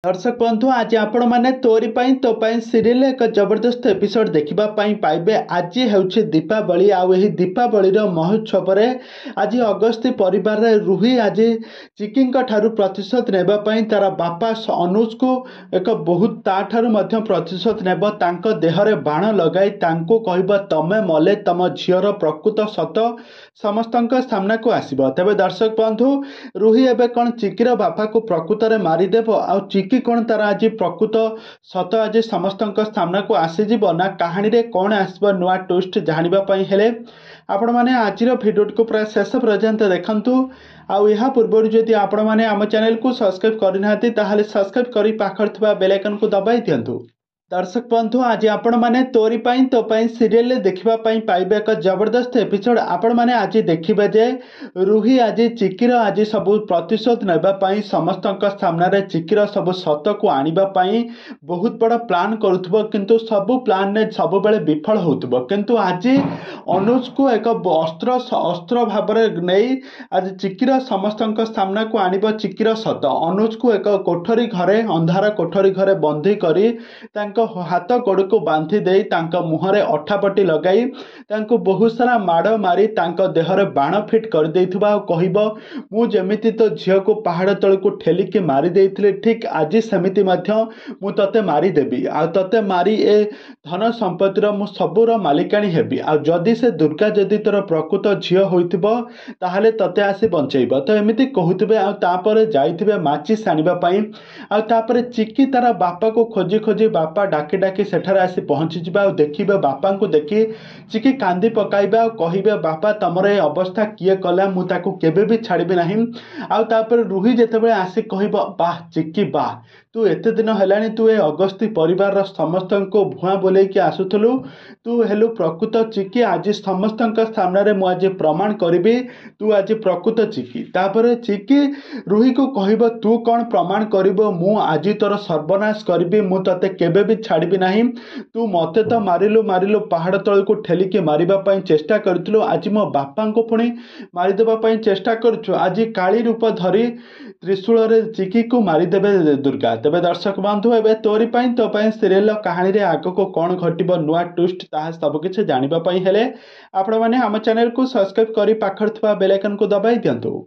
ଦର୍ଶକ ବନ୍ଧୁ, ଆଜି ଆପଣମାନେ ତୋରି ପାଇଁ ତୋ ପାଇଁ ସିରିଏଲ ଏକ ଜବରଦସ୍ତ ଏପିସୋଡ ଦେଖିବା ପାଇଁ ପାଇବେ। ଆଜି ହେଉଛି ଦୀପାବଳି, ଆଉ ଏହି ଦୀପାବଳିର ମହୋତ୍ସବରେ ଆଜି ଅଗସ୍ତି ପରିବାରରେ ରୁହି ଆଜି ଚିକିଙ୍କ ଠାରୁ ପ୍ରତିଶୋଧ ନେବା ପାଇଁ ତାର ବାପା ଅନୁଜକୁ ଏକ ବହୁତ ତାଠାରୁ ମଧ୍ୟ ପ୍ରତିଶୋଧ ନେବ। ତାଙ୍କ ଦେହରେ ବାଣ ଲଗାଇ ତାଙ୍କୁ କହିବ, ତମେ ମଲେ ତମ ଝିଅର ପ୍ରକୃତ ସତ ସମସ୍ତଙ୍କ ସାମ୍ନାକୁ ଆସିବ। ତେବେ ଦର୍ଶକ ବନ୍ଧୁ, ରୁହି ଏବେ କ'ଣ ଚିକିର ବାପାକୁ ପ୍ରକୃତରେ ମାରିଦେବ, ଆଉ ଚିକି କ'ଣ ତାର ଆଜି ପ୍ରକୃତ ସତ ଆଜି ସମସ୍ତଙ୍କ ସାମ୍ନାକୁ ଆସିଯିବ, ନା କାହାଣୀରେ କ'ଣ ଆସିବ ନୂଆ ଟୁଇଷ୍ଟ, ଜାଣିବା ପାଇଁ ହେଲେ ଆପଣମାନେ ଆଜିର ଭିଡ଼ିଓଟିକୁ ପୁରା ଶେଷ ପର୍ଯ୍ୟନ୍ତ ଦେଖନ୍ତୁ। ଆଉ ଏହା ପୂର୍ବରୁ ଯଦି ଆପଣମାନେ ଆମ ଚ୍ୟାନେଲକୁ ସବସ୍କ୍ରାଇବ୍ କରିନାହାନ୍ତି, ତାହେଲେ ସବସ୍କ୍ରାଇବ୍ କରି ପାଖରେ ଥିବା ବେଲ୍ ଆଇକନ୍କୁ ଦବାଇ ଦିଅନ୍ତୁ। ଦର୍ଶକ ବନ୍ଧୁ, ଆଜି ଆପଣମାନେ ତୋରି ପାଇଁ ତୋ ପାଇଁ ସିରିଏଲରେ ଦେଖିବା ପାଇଁ ପାଇବେ ଏକ ଜବରଦସ୍ତ ଏପିସୋଡ। ଆପଣମାନେ ଆଜି ଦେଖିବେ ଯେ ରୁହି ଆଜି ଚିକିର ଆଜି ସବୁ ପ୍ରତିଶୋଧ ନେବା ପାଇଁ, ସମସ୍ତଙ୍କ ସାମ୍ନାରେ ଚିକିର ସବୁ ସତକୁ ଆଣିବା ପାଇଁ ବହୁତ ବଡ଼ ପ୍ଲାନ୍ କରୁଥିବ, କିନ୍ତୁ ସବୁ ପ୍ଲାନ୍ରେ ସବୁବେଳେ ବିଫଳ ହେଉଥିବ। କିନ୍ତୁ ଆଜି ଅନୁଜକୁ ଏକ ଅସ୍ତ୍ର ଭାବରେ ନେଇ ଆଜି ଚିକିର ସମସ୍ତଙ୍କ ସାମ୍ନାକୁ ଆଣିବ ଚିକିର ସତ। ଅନୁଜକୁ ଏକ କୋଠରୀ ଘରେ, ଅନ୍ଧାର କୋଠରୀ ଘରେ ବନ୍ଦୀ କରି ତାଙ୍କ ହାତ ଗୋଡ଼କୁ ବାନ୍ଧି ଦେଇ, ତାଙ୍କ ମୁହଁରେ ଅଠାପଟି ଲଗାଇ, ତାଙ୍କୁ ବହୁତ ସାରା ମାଡ଼ ମାରି ତାଙ୍କ ଦେହରେ ବାଣ ଫିଟ୍ କରିଦେଇଥିବ, ଆଉ କହିବ, ମୁଁ ଯେମିତି ତୋ ଝିଅକୁ ପାହାଡ଼ ତଳକୁ ଠେଲିକି ମାରି ଦେଇଥିଲି, ଠିକ୍ ଆଜି ସେମିତି ମଧ୍ୟ ମୁଁ ତୋତେ ମାରିଦେବି, ଆଉ ତୋତେ ମାରି ଏ ଧନ ସମ୍ପତ୍ତିର ମୁଁ ସବୁର ମାଲିକାଣୀ ହେବି, ଆଉ ଯଦି ସେ ଦୁର୍ଗା ଯଦି ତୋର ପ୍ରକୃତ ଝିଅ ହୋଇଥିବ ତାହେଲେ ତୋତେ ଆସି ବଞ୍ଚେଇବ। ତ ଏମିତି କହୁଥିବେ, ଆଉ ତାପରେ ଯାଇଥିବେ ମାଚିସ୍ ଆଣିବା ପାଇଁ। ଆଉ ତାପରେ ଚିକି ତାର ବାପାକୁ ଖୋଜି ଖୋଜି, ବାପା ଡାକି ଡାକି ସେଠାରେ ଆସି ପହଞ୍ଚିଯିବେ, ଆଉ ଦେଖିବେ ବାପାଙ୍କୁ ଦେଖି ଚିକି କାନ୍ଦି ପକାଇବେ ଆଉ କହିବେ, ବାପା, ତମର ଏ ଅବସ୍ଥା କିଏ କଲା? ମୁଁ ତାକୁ କେବେ ବି ଛାଡ଼ିବି ନାହିଁ। ଆଉ ତାପରେ ରୁହି ଯେତେବେଳେ ଆସି କହିବ, ବାহ ଚିକି ବାହ, ତୁ ଏତେ ଦିନ ହେଲାଣି ତୁ ଏ ଅଗସ୍ତି ପରିବାରର ସମସ୍ତଙ୍କୁ ଭୁଆଁ ବୁଲେଇକି ଆସୁଥିଲୁ, ତୁ ହେଲୁ ପ୍ରକୃତ ଚିକି। ଆଜି ସମସ୍ତଙ୍କ ସାମ୍ନାରେ ମୁଁ ଆଜି ପ୍ରମାଣ କରିବି ତୁ ଆଜି ପ୍ରକୃତ ଚିକି। ତାପରେ ଚିକି ରୁହିକୁ କହିବ, ତୁ କ'ଣ ପ୍ରମାଣ କରିବ? ମୁଁ ଆଜି ତୋର ସର୍ବନାଶ କରିବି, ମୁଁ ତତେ କେବେ ବି ଛାଡ଼ିବି ନାହିଁ। ତୁ ମୋତେ ତ ମାରିଲୁ ମାରିଲୁ, ପାହାଡ଼ ତଳକୁ ଠେଲିକି ମାରିବା ପାଇଁ ଚେଷ୍ଟା କରିଥିଲୁ, ଆଜି ମୋ ବାପାଙ୍କୁ ପୁଣି ମାରିଦେବା ପାଇଁ ଚେଷ୍ଟା କରୁଛୁ। ଆଜି କାଳି ରୂପ ଧରି ତ୍ରିଶୂଳରେ ଚିକିକୁ ମାରିଦେବେ ଦୁର୍ଗା। ତେବେ ଦର୍ଶକ ବନ୍ଧୁ, ଏବେ ତୋରି ପାଇଁ ତୋ ପାଇଁ ସିରିଏଲର କାହାଣୀରେ ଆଗକୁ କ'ଣ ଘଟିବ ନୂଆ ଟୁଇଷ୍ଟ, ତାହା ସବୁକିଛି ଜାଣିବା ପାଇଁ ହେଲେ ଆପଣମାନେ ଆମ ଚ୍ୟାନେଲକୁ ସବସ୍କ୍ରାଇବ୍ କରି ପାଖରେ ଥିବା ବେଲ୍ ଆଇକନ୍କୁ ଦବାଇ ଦିଅନ୍ତୁ।